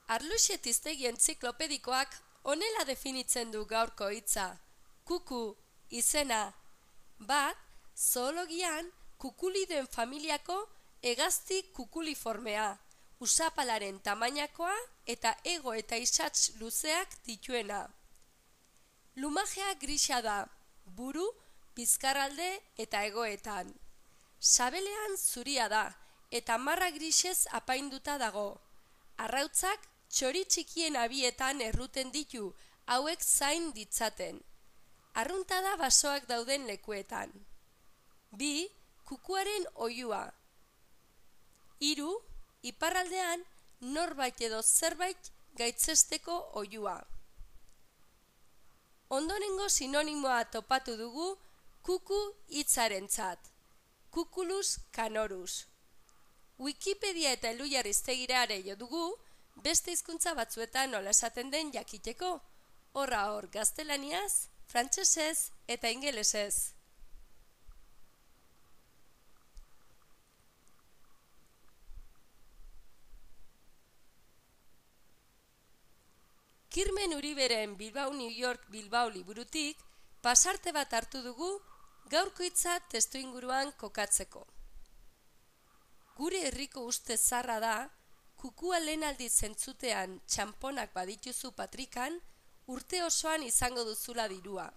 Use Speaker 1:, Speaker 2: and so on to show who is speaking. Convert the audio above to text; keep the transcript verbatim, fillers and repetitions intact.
Speaker 1: Arluxetiztegi entziklopedikoak honela definitzen du gaurko hitza. Kuku, izena. Bat, zoologian kukuliden familiako hegazti kukuliformea, usapalaren tamainakoa eta ego eta isats luzeak dituena. Lumajea grisa da, buru, bizkarralde eta hegoetan. Sabelean zuria da eta marra grisez apainduta dago. Arrautzak txori txikien abietan erruten ditu, hauek zain ditzaten. Arruntada basoak dauden lekuetan. Bi, kukuaren oihua. Hiru, iparraldean norbait edo zerbait gaitzesteko oihua. Ondorengo sinonimoa topatu dugu kuku hitzarentzat. Cuculus canorus. Wikipedia eta Elhuyar-Hiztegira jo dugu, beste hizkuntza batzuetan nola esaten den jakiteko. Horra hor gaztelaniaz, frantsesez eta ingelesez. Kirmen Uriberen Bilbao New York Bilbao liburutik pasarte bat hartu dugu gaurko hitza testuinguruan kokatzeko. Gure herriko uste zarra da, kukua lehen aldiz entzutean txamponak badituzu patrikan, urte osoan izango duzula dirua.